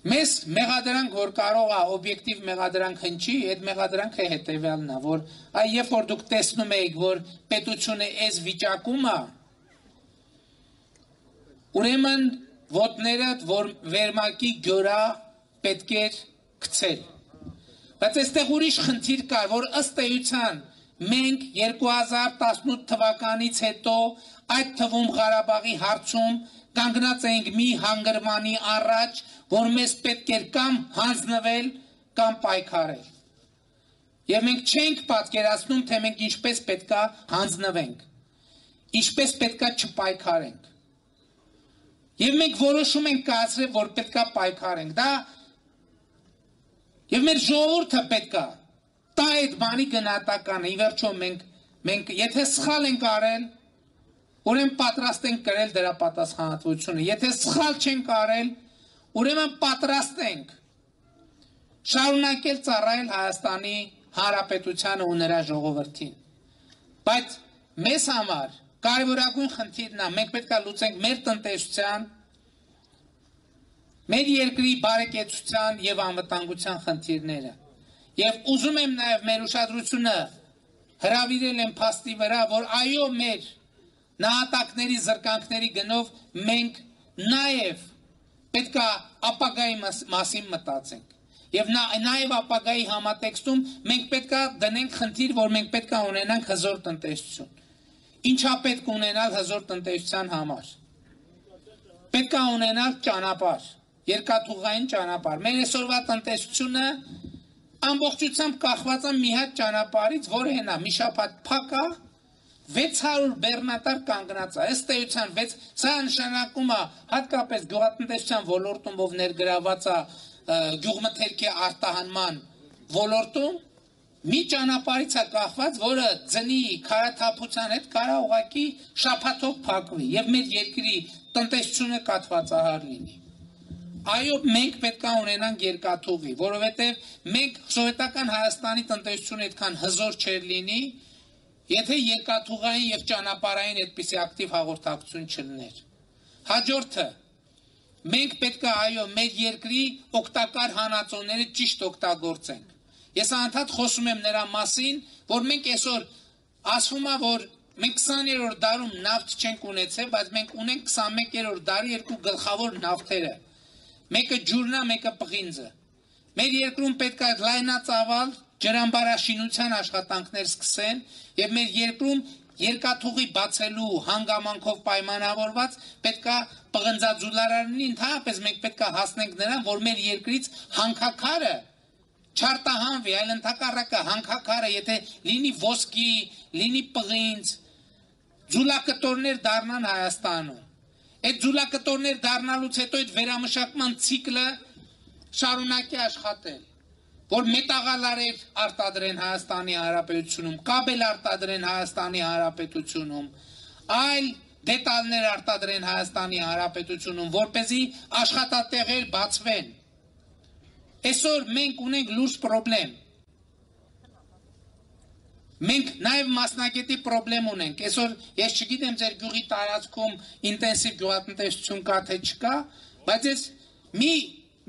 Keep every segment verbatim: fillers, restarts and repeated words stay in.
Մեզ մեղադրանք, որ կարող է օբյեկտիվ մեղադրանք հնչի, այդ մեղադրանքը հետևյալն է, որ այ երբ որ դուք տեսնում եք, որ պետությունը այս վիճակում է, ուրեմն ոտներդ, որ վերմակի գորա պետք է գցել։ Բայց այստեղ ուրիշ խնդիր կար, որ ըստ էության մենք երկու հազար տասնութ թվականից հետո այդ թվում Ղարաբաղի հարցում կանգնած ենք մի հանգրվանի առաջ, որ մեզ պետք էր կամ հանձնվել, կամ պայքարել։ Եվ մենք չենք պատկերացնում, թե մենք ինչպես պետքա հանձնվենք, ինչպես պետքա չպայքարենք։ Եվ մենք որոշում ենք կայացրել, որ պետքա պայքարենք։ Դա եւ մեր ժողովուրդը պետքա տա այդ բանի գնահատականը։ Ի վերջո մենք մենք եթե սխալ ենք արել, ուրեմն պատրաստ ենք կրել դրա պատասխանատվությունը։ Եթե սխալ չենք արել, ուրեմն պատրաստ ենք շարունակել ծառայել Հայաստանի Հանրապետությանը ու նրա ժողովրդին։ Բայց մեզ համար կարևորագույն խնդիրն է, մենք պետք է լուծենք մեր տնտեսության, մեր երկրի բարեկեցության եւ անվտանգության խնդիրները։ Եվ ուզում եմ նաեւ մեր ուշադրությունը հրավիրել եմ փաստի վրա, որ այո, մեր նահատակների զրկանքների գնով մենք նաեւ պետք է ապագայի մասին մտածենք։ Եվ նաեւ ապագայի համատեքստում մենք պետք է դնենք խնդիր, որ մենք պետք է ունենանք հզոր տնտեսություն։ Ինչա պետք ունենալ հզոր տնտեսության համար։ Պետք է ունենալ ճանապարհ, երկաթուղային ճանապարհ։ Մեր այսօրվա տնտեսությունը ամբողջությամբ կախված է մի հատ ճանապարհից, որը հենա մի շաբաթ փակ է, վեց հարյուր բեռնատար կանգնած է։ Ըստ էության սա նշանակում է հատկապես գյուղատնտեսության ոլորտում, ով ներգրաված է գյուղմթերքի արտահանման ոլորտում, մի ճանապարհից է կախված, որը ձնի քարաթափության հետ կարա ուղղակի շաբաթով փակվի եւ մեր երկրի տնտեսությունը կաթվածահար լինի։ Այո, մենք պետք է ունենանք երկաթուղի, որովհետեւ մենք սովետական Հայաստանի տնտեսությունը այդքան հզոր չէր լինի, եթե երկաթուղային եւ ճանապարհային այդպիսի ակտիվ հաղորդակցություն չլիներ։ Հաջորդը մենք պետք է այո մեր երկրի օգտակար հանածոները ճիշտ օգտագործենք։ Ես անդադ խոսում եմ նրա մասին, որ մենք այսօր ասվում է, որ մենք քսաներորդ դարում նավթ չենք ունեցել, բայց մենք ունենք քսանմեկերորդ դարի երկու գլխավոր նավթերը։ Մեկը ջուրն է, մեկը պղինձը։ Մեր երկրում պետք է լայնածավալ ջրամբարաշինության աշխատանքներ սկսեն եւ մեր երկրում երկաթուղի բացելու հանգամանքով պայմանավորված պետք է պղնձաձուլարարների ընդհանրապես մենք պետք է հասնենք նրան, որ մեր երկրից հանքաքարը չարտահանվի, այլ ընդհակառակը հանքաքարը, եթե լինի ոսկի, լինի պղինձ, ձուլակտորներ դառնան Հայաստանում։ Այդ ձուլակտորներ դառնալուց հետո այդ վերամշակման ցիկլը շարունակի աշխատել, որ մետաղալարեր արտադրեն Հայաստանի Հանրապետությունում, կաբել արտադրեն Հայաստանի Հանրապետությունում, այլ դետալներ արտադրեն Հայաստանի Հանրապետությունում, որպեսզի աշխատատեղեր բացվեն։ Այսօր մենք ունենք լուրջ պրոբլեմ։ Մենք նաև մասնագետի պրոբլեմ ունենք։ Այսօր ես չգիտեմ ձեր գյուղի տարածքում ինտենսիվ գյուղատնտեսություն կա թե չկա, բայց ես մի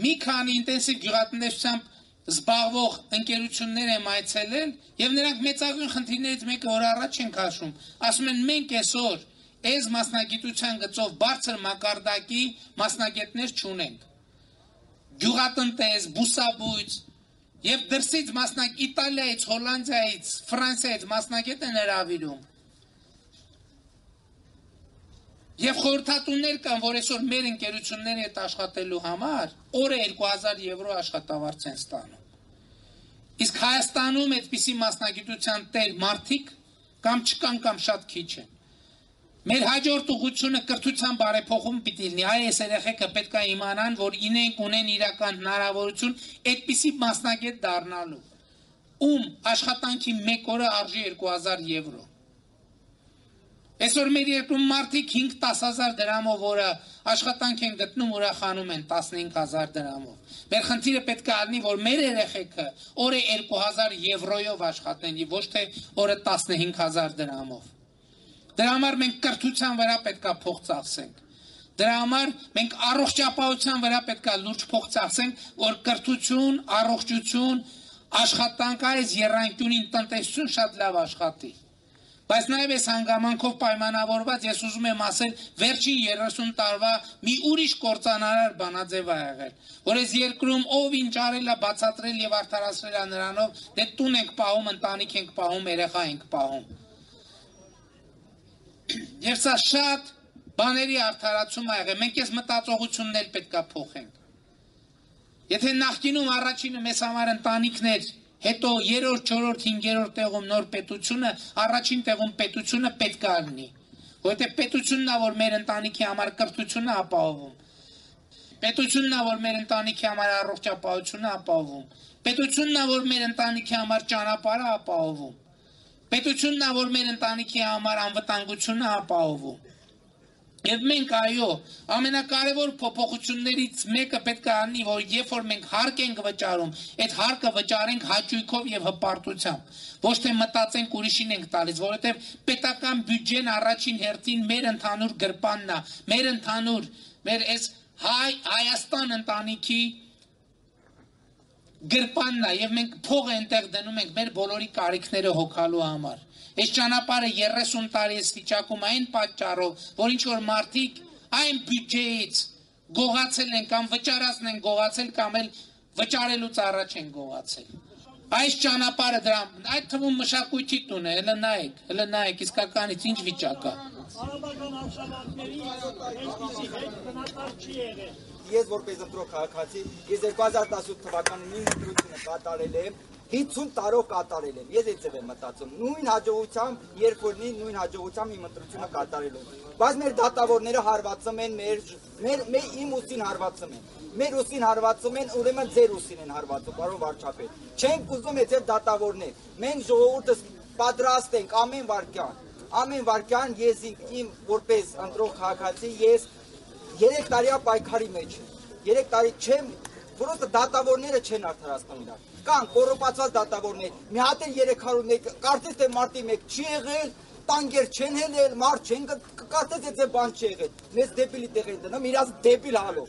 մի քանի ինտենսիվ գյուղատնտեսությամբ զբաղվող ընկերություններ եմ այցելել եւ նրանք մեծագույն խնդիրներից մեկը որ առաջ են քաշում, ասում են մենք այսօր այս մասնագիտության գծով բարձր մակարդակի մասնագետներ չունենք։ Գյուղատնտես, բուսաբույծ եւ դրսից մասնագետ Իտալիայից, Հոլանդիայից, Ֆրանսիայից մասնագետ են հրավիրում։ Եվ խորհրդատուներ կան, որ այսօր մեր ընկերությունների հետ աշխատելու համար օրը երկու հազար եվրո աշխատավարձ են ստանում։ Իսկ Հայաստանում այդպիսի մասնագիտության տեր մարդիկ կամ չկան կամ շատ քիչ են։ Մեր հաջորդ ուղղությունը կրթության բարեփոխում պիտի լինի։ Այս երեխեքը պետք է իմանան, որ ինենք ունեն իրական հնարավորություն այդպիսի մասնագետ դառնալու, ում աշխատանքի մեկ օրը արժի երկու հազար եվրո։ Այսօր մեր երկրում մարդիկ հինգ-տաս հազար դրամով որը աշխատանք են գտնում, ուրախանում են տասնհինգ հազար դրամով։ Մեր խնդիրը պետք է լինի, որ մեր երեխեքը օրը երկու հազար եվրոյով աշխատեն, եւ ոչ թե օրը տասնհինգ հազար դրամով։ Դրա համար մենք կրթության վրա պետք է փող ծախսենք։ Դրա համար մենք առողջապահության վրա պետք է լուրջ փող ծախսենք, որ կրթություն, առողջություն, աշխատանք այս եռանկյունին տնտեսություն շատ լավ աշխատի։ Բայց նաև այս հանգամանքով պայմանավորված ես ուզում եմ ասել վերջին երեսուն տարվա մի ուրիշ կործանարար բանաձև ա եղել, որ այս երկրում ով ինչ արել է բացատրել եւ արդարացրել է նրանով, դե տուն ենք պահում, ընտանիք ենք պահում, երեխա ենք պահում։ Եվ սա շատ բաների արդարացում ա եղել, մենք այս մտածողությունն էլ պետք է փոխենք։ Եթե նախկինում առաջինը մեզ համար ընտանիքներ, հետո երրորդ, չորրորդ, հինգերորդ տեղում նոր պետությունը, առաջին տեղում պետությունը պետք է լինի, որովհետև պետությունն է, որ մեր ընտանիքի համար կրթությունն է ապահովում, պետությունն է, որ մեր ընտանիքի համար առողջապահությունն է ապահովում, պետությունն է, որ մեր ընտանիքի համար ճանապարհը ապահովում, պետությունն է, որ մեր ընտանիքի համար անվտանգությունն է ապահովում։ Եվ մենք այո, ամենակարևոր փոփոխություններից մեկը պետք է անի, որ երբ որ մենք հարկ ենք վճարում, այդ հարկը վճարենք հաճույքով եւ հպարտությամբ, ոչ թե մտածենք ուրիշին ենք տալիս, որովհետեւ պետական բյուջեն առաջին հերթին մեր ընդհանուր գրպանն է, մեր ընդհանուր, մեր այս հայ Հայաստան ընտանիքի գրպանն է եւ մենք փողը այնտեղ դնում ենք մեր բոլորի կարիքները հոգալու համար։ Այս ճանապարհը երեսուն տարի է վիճակում այն պատճառով, որ ինչ որ մարդիկ այն բյուջեից գողացել են կամ վճարածն են գողացել կամ էլ վճարելուց առաջ են գողացել։ Այս ճանապարհը դրա այդ թվում մշակույթի տուն է, հələ նայեք, հələ նայեք իսկականից ինչ վիճակ է։ Արաբական արշավանքների այսպիսի հետ բնակար չի եղել։ Ես որպես ընտրող քաղաքացի, ես երկու հազար տասութ թվականին իմ ընտրությունը կատարել եմ, հինգ տարով կատարել եմ։ Ես այդպես եմ մտածում։ Նույն հաջողությամբ, երբ որ նույն հաջողությամբ իմ ընտրությունը կատարել եմ։ Բայց մեր դատավորները հարվածում են մեր մեր մեր իմ ուսին հարվածում են։ Մեր ուսին հարվածում են, ուրեմն ձեր ուսին են հարվածում, պարոն վարչապետ։ Չենք ուզում այդ ձեր դատավորներ։ Մենք ժողովուրդը պատրաստ ենք ամեն վարքյան։ Ամեն վարքյան ես իմ որպես ընտրող քաղաքացի ես երեք տարիա պայքարի մեջ եմ։ Երեք տարի չեմ, որոնց դատավորները չեն արդարացնում իրար։ Կան կոռուպացված դատավորներ։ Մի հատ էլ երեք հարյուր մեկ, կարծես թե մարտի մեկ չի եղել, տանկեր չեն հելել, մարդ չեն կարծես թե բան չի եղել։ Մեզ դեպիլի տեղ են դնում, իրաց դեպիլ հալով։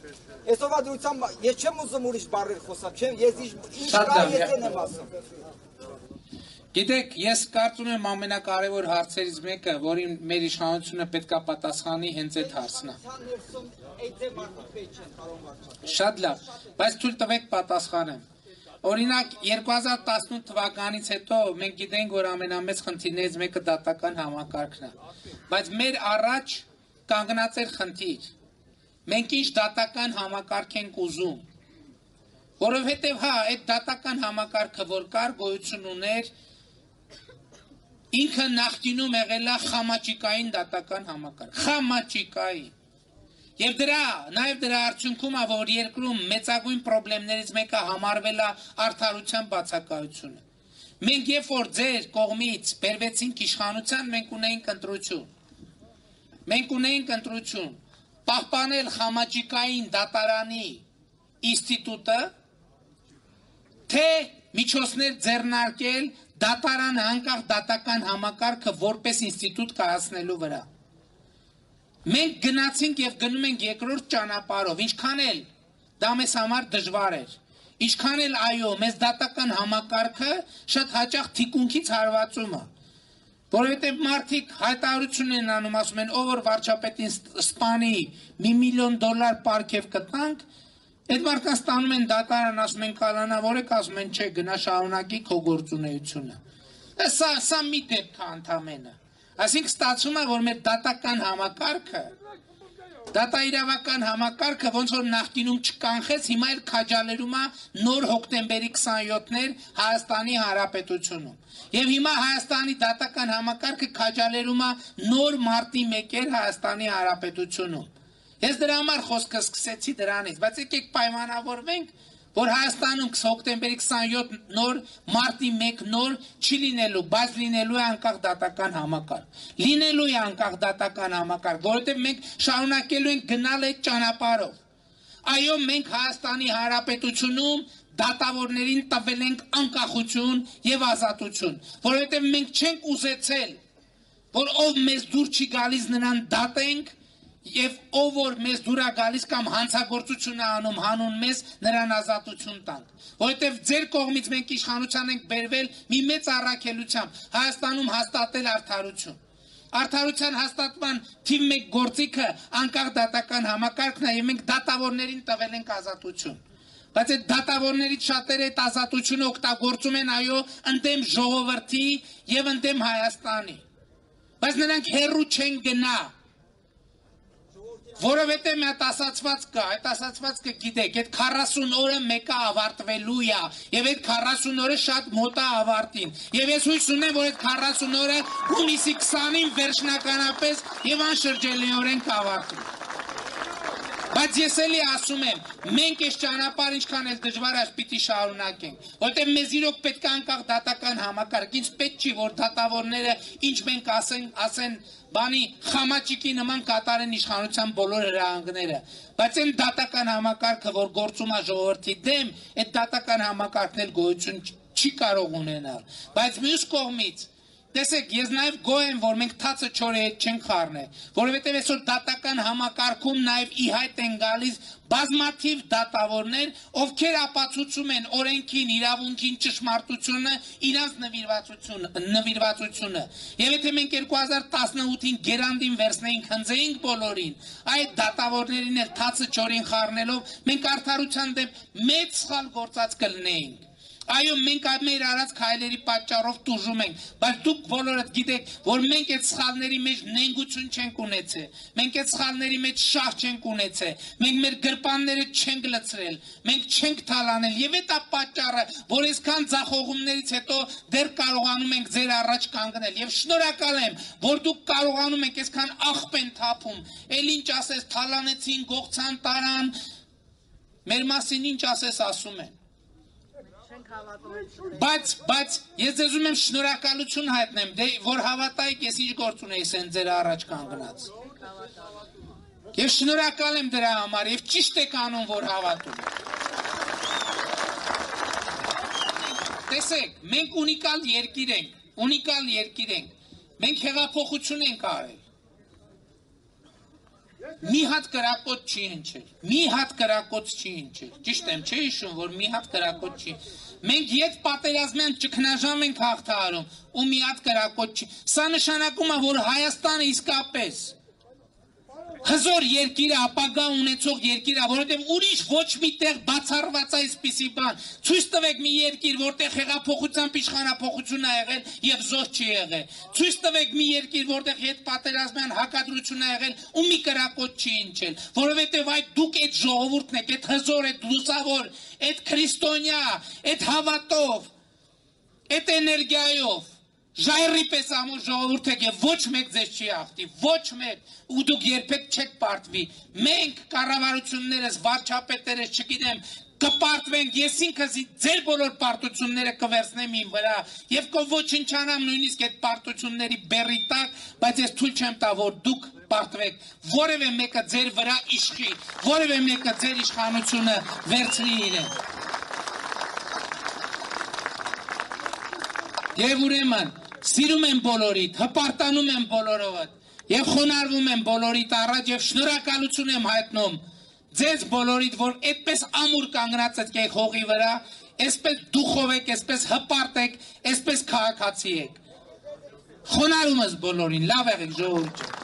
Այսօրվա դրությամբ ես չեմ ուզում ուրիշ բառեր խոսամ, չեմ, ես ինչ կա ես եմ ասում։ Գիտեք, ես կարծում եմ ամենակարևոր հարցերից մեկը, որին մեր իշխանությունը պետք է պատասխանի, հենց այդ հարցն է։ Շատ լավ, բայց թույլ տվեք պատասխանեմ։ Օրինակ երկու հազար տասնութ թվականից հետո մենք գիտենք, որ ամենամեծ խնդիրներից մեկը դատական համակարգն է, բայց մեր առաջ կանգնած էր խնդիր։ Մենք ինչ դատական համակարգ ենք ուզում, որովհետև հա, այդ դատական համակարգը, որ կար, գոյություն ուներ, ինքը նախկինում եղել է խամաճիկային դատական համակարգ, խամաճիկային։ Եվ դրա, նաև դրա արդյունքում է, որ երկրում մեծագույն պրոբլեմներից մեկը համարվել է արդարության բացակայությունը։ Մենք երբ որ ձեր կողմից բերվեցինք իշխանության, մենք ունեինք ընտրություն։ Մենք ունեինք ընտրություն, պահպանել խամաճիկային դատարանի ինստիտուտը, թե միջոցներ ձեռնարկել դատարանը անկախ դատական համակարգը որպես ինստիտուտ կայացնելու վրա։ Մենք գնացինք եւ գնում ենք երկրորդ ճանապարհով, ինչքան էլ դա մեզ համար դժվար էր, ինչքան էլ այո, մեզ դատական համակարգը շատ հաճախ թիկունքից հարվածում է, որովհետեւ մարդիկ հայտարարություն են անում, ասում են, ով որ վարչապետին սպանի մի միլիոն դոլար պարգև կտանք, այդ մարդկանց ստանում են դատարան, ասում են կալանավոր եք, ասում են չէ, գնա շարունակի քո գործունեությունը։ Սա սա մի դեպք է ընդամենը։ Այսինքն ստացվում է, որ մեր դատական համակարգը, դատաիրավական համակարգը ոնց որ նախկինում չկանխեց, հիմա էլ քաջալերում է նոր հոկտեմբերի քսանյոթներ Հայաստանի Հանրապետությունում։ Եվ հիմա Հայաստանի դատական համակարգը քաջալերում է նոր մարտի մեկեր Հայաստանի Հանրապետությունում։ Ես դրա համար խոսքը սկսեցի դրանից, բայց եկեք պայմանավորվենք, որ Հայաստանում հոկտեմբերի քսանյոթ նոր մարտի մեկ նոր չի լինելու, բայց լինելու է անկախ դատական համակարգ։ Լինելու է անկախ դատական համակարգ, որովհետև մենք շարունակելու ենք գնալ այդ ճանապարհով։ Այո, մենք Հայաստանի Հանրապետությունում դատավորներին տվել ենք անկախություն եւ ազատություն, որովհետև մենք չենք ուզեցել, որ ով մեզ դուր չի գալիս նրան դատենք Եվ ով որ մեզ դուրա գալիս կամ հանցագործություն է անում հանուն մեզ նրան ազատություն տանք, որովհետև ձեր կողմից մենք իշխանության ենք բերվել մի մեծ առաքելությամբ Հայաստանում հաստատել արդարություն։ Արդարության հաստատման թիվ մեկ գործիքը անկախ դատական համակարգն է, եւ մենք դատավորներին տվել ենք ազատություն։ Բայց այդ դատավորներից շատերը այդ ազատությունը օգտագործում են այո ընդդեմ ժողովրդի եւ ընդդեմ Հայաստանի։ Բայց նրանք հեռու չեն գնա։ Որովհետև մի հատ ասացված կա, այդ ասացվածքը գիտեք, այդ քառասուն օրը մեկը ավարտվելու է, եւ այդ քառասուն օրը շատ մոտ է ավարտին։ Եվ ես հույս ունեմ, որ այդ քառասուն օրը հունիսի քսանին վերջնականապես եւ անշրջելիորեն կավարտվի։ Բայց ես էլի ասում եմ, մենք այս ճանապարհը ինչքան էլ դժվար է, պիտի շարունակենք, որտեղ մեզ իրոք պետք է անկախ դատական համակարգ, ինձ պետք չի, որ դատավորները ինչ մենք ասեն, ասեն բանի խամաճիկի նման կատարեն իշխանության բոլոր հրահանգները, բայց այն դատական համակարգը, որ գործում է ժողովրդի դեմ, այդ դատական համակարգն էլ գոյություն չի կարող ունենալ, բայց մյուս կողմից տեսեք, ես նաև գոհ եմ, որ մենք թացը չորի հետ չենք խառնել, որովհետև այսօր դատական համակարգում նաև ի հայտ են գալիս բազմաթիվ դատավորներ, ովքեր ապացուցում են օրենքին, իրավունքին, ճշմարտությունը, իրանց նվիրվածությունը, նվիրվածությունը։ Եվ եթե մենք երկու հազար տասնութին գերանդին վերցնեինք, հնձեինք բոլորին, այդ դատավորներին էլ թացը չորին խառնելով, մենք արդարության դեմ մեծ սխալ գործած կլինեինք։ Այո, մենք մեր արած քայլերի պատճառով տուժում ենք, բայց դուք բոլորդ գիտեք, որ մենք այդ սխալների մեջ նենգություն չենք ունեցել, մենք այդ սխալների մեջ շահ չենք ունեցել, մենք մեր գրպանները չենք լցրել, մենք չենք թալանել, եւ այդ է պատճառը, որ այսքան ձախողումներից հետո դեռ կարողանում ենք ձեր առաջ կանգնել, եւ շնորհակալ եմ, որ դուք կարողանում եք այսքան աղբ են թափում, էլ ինչ ասես թալանեցին, գողցան, տարան, մեր մասին ինչ ասես ասում են։ Բայց, բայց, ես ձեզ ուզում եմ շնորհակալություն հայտնեմ, դե որ հավատայիք, ես ինչ գործ ունեի սեն ձեր առաջ կանգնած։ Ես շնորհակալ եմ դրա համար եւ ճիշտ եք անում, որ հավատում։ Տեսեք, մենք ունիկալ երկիր ենք, ունիկալ երկիր ենք։ Մենք հեղափոխություն ենք արել։ Մի հատ կրակոտ չի հնչել, մի հատ կրակոտ չի հնչել, ճիշտ եմ, չէ հիշում, որ մի հատ կրակոտ չի, մենք ետ պատերազմյան ճգնաժամ ենք հաղթահարում, ու մի հատ կրակոտ չի, սա նշանակում է, որ Հայաստանը իսկապես հզոր երկիր է, ապագա ունեցող երկիր է, որովհետև ուրիշ ոչ մի տեղ բացառված այսպիսի բան, ցույց տվեք մի երկիր, որտեղ հեղափոխությամբ իշխանափոխություն է եղել եւ զոհ չի եղել, ցույց տվեք մի երկիր, որտեղ հետպատերազմյան հակադրություն է եղել ու մի կրակոտ չի հնչել, որովհետև այդ դուք այդ ժողովուրդն եք, այդ հզոր, այդ լուսավոր, այդ քրիստոնյա, այդ հավատով, այդ էներգիայով Ժայռի պես ամուր ժողովուրդ եք եւ ոչ մեկ ձեզ չի հաղթի, ոչ մեկ, ու դուք երբեք չեք պարտվի, մենք կառավարություններս, վարչապետերս, չգիտեմ, կպարտվենք, ես ինքս ձեր բոլոր պարտությունները կվերցնեմ իմ վրա եւ կոչնչանամ նույնիսկ այդ պարտությունների բեռի տակ, բայց ես թույլ չեմ տա, որ դուք պարտվեք, որևէ մեկը ձեր վրա իշխի, որևէ մեկը ձեր իշխանությունը վերցնի իրեն։ Եվ ուրեմն, սիրում եմ բոլորիդ, հպարտանում եմ բոլորովդ, եւ խոնարհվում եմ բոլորիդ առաջ եւ շնորհակալություն եմ հայտնում ձեզ բոլորիդ, որ այդպես ամուր կանգնած եք հողի վրա, այսպես դուխով եք, այսպես հպարտ եք, այսպես քաղաքացի եք։ Խոնարհումս բոլորին, լավ եղեք ժողովուրդ։